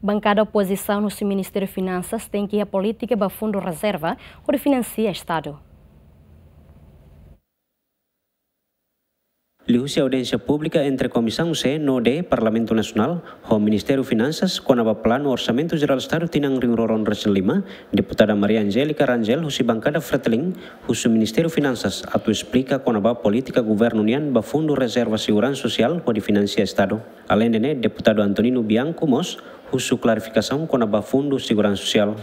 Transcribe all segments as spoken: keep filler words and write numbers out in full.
Bankada opozisaun husi Ministériu Finansas tenke iha polítika ba fundu rezerva hodi finansia Estadu. Liuhusi audiénsia públika entre Komisaun C no D Parlamentu Nasionál ho Ministériu Finansas kona-ba planu Orsamentu Jerál Estadu tinan rihun rua ruanulu-resin-lima, Deputada Maria Angélica Rangel husi bankada Fretilin husu Ministériu Finansas atu esplika kona-ba polítika governu nian ba fundu rezerva seguransa sosiál hodi finansia Estadu. Aleinde ne'e, Deputadu Antonino Bianco mós husu klarifikasaun kona-ba fundu seguransa sosiál.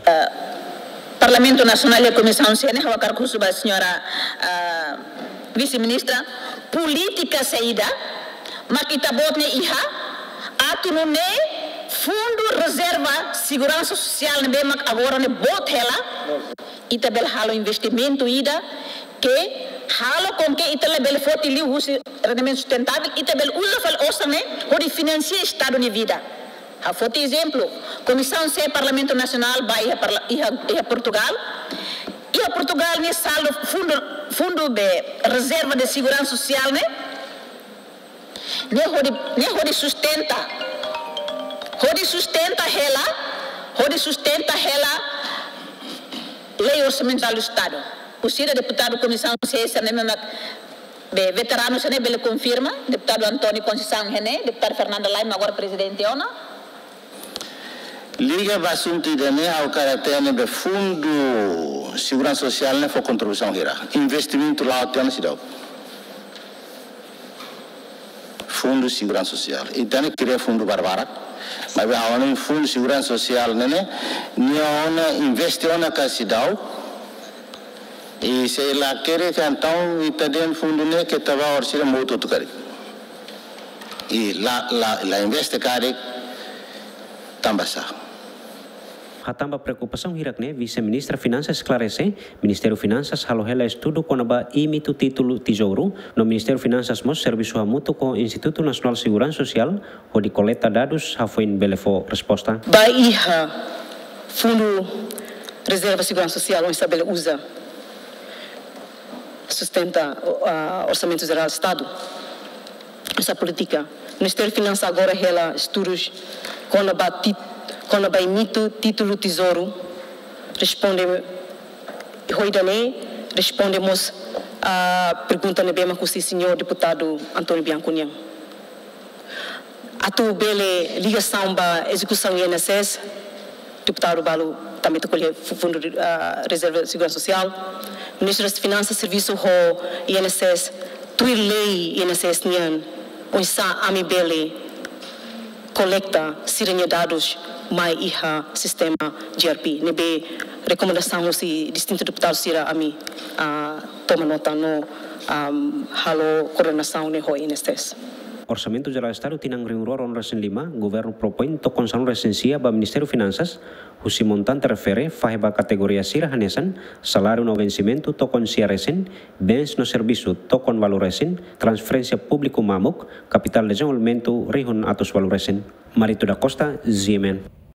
Parlamentu Nasionál iha Komisaun C ne'e, ha'u hakarak husu ba señora, ah, Vise-Ministra, polítika saida mak ita-boot ne'e iha atu nune'e fundu rezerva seguransa sosiál ne'ebé mak agora ne'e boot hela, ita bele halo investimentu ida ke halo com que ita labele foti liu husi rendimentu sustentável, ita bele uza fali osan ne'e hodi finansia Estadu nia vida. Ha'u foti ezemplu, Komisaun C Parlamentu Nasionál bá iha parla-, iha, iha Portugal. Iha Portugal nia saldu fundu, fundu de rezerva de seguransa sosiál ne'e, ne'e hodi, ne'e hodi sustenta, hodi sustenta hela, hodi sustenta hela lei Orsamentu Jerál Estadu. Husi ida deputadu Komisaun C sira-ne'e mak be veteranu sira-ne'e bele konfirma, Deputadu António Conceição iha ne'e, Deputada Fernanda Lima agora prezidente ona. Liga ba asuntu ida-ne'e, ha'u hakarak hatene be fundu seguransa sosiál ne'e fó kontribuisaun hira. Investimentu la'o tiha ona seidauk. Fundu seguransa sosiál. Ita ne'e kria fundu barbarak. Maibé ha'u hanoin fundu seguransa sosiál ne'e ne'e, nia ona investe ona ka seidauk. I se lakerik entaun ita dehan fundu ne'e keta ba orsida mout hotu karik. I la, la, la investe karik tanba sá? Hatán ba preokupasaun hirak ne'e, Vise-Ministra Finansas esklarese, Ministériu Finansas halo hela estudu kona-ba imitu títulu Tezouru, no Ministériu Finansas mós servisu hamutuk ho Institutu Nasionál Seguransa Sosiál, hodi koleta dadus hafoin bele fó resposta. Ba iha fundu rezerva seguransa sosiál, oinsá bele uza sustenta, ah, Orsamentu Jerál Estadu. Esa polítika. Ministériu Finansas agora hela estudus kona-ba tit-, kona-ba imitu títulu Tezouru. Responde ho ida-ne'e, responde mós, ah, pergunta ne'ebé mak husi señór deputadu António Bianco nian. Atu bele ligasaun ba ezekusaun I N S S, deputadu balu tanba ita ko'alia fu-, fundu, ah, rezerva seguransa sosiál. Ministru Finansas servisu ho I N S S, tuir lei I N S S nian, oinsá ami bele koleta sira-nia dadus mai iha sistema G R P. Ne'ebé rekomendasaun husi distintu deputadu sira ami, ah, toma nota no, ah, halo koordenasaun ne'e ho I N S S. Orsamentu Jerál Estadu tinan rihun rua ruanulu-resin-lima, Governu propoin tokon sanulu-resin-sia ba Ministériu Finansas, husi montante refere fahe ba kategoria sira hanesan saláriu no vensimentu tokon sia resin, bens no servisu tokon ualu resin, transferénsia públiku mamuk, kapitál dezenvolvimentu rihun atus ualu resin. Marito da Costa, G M N.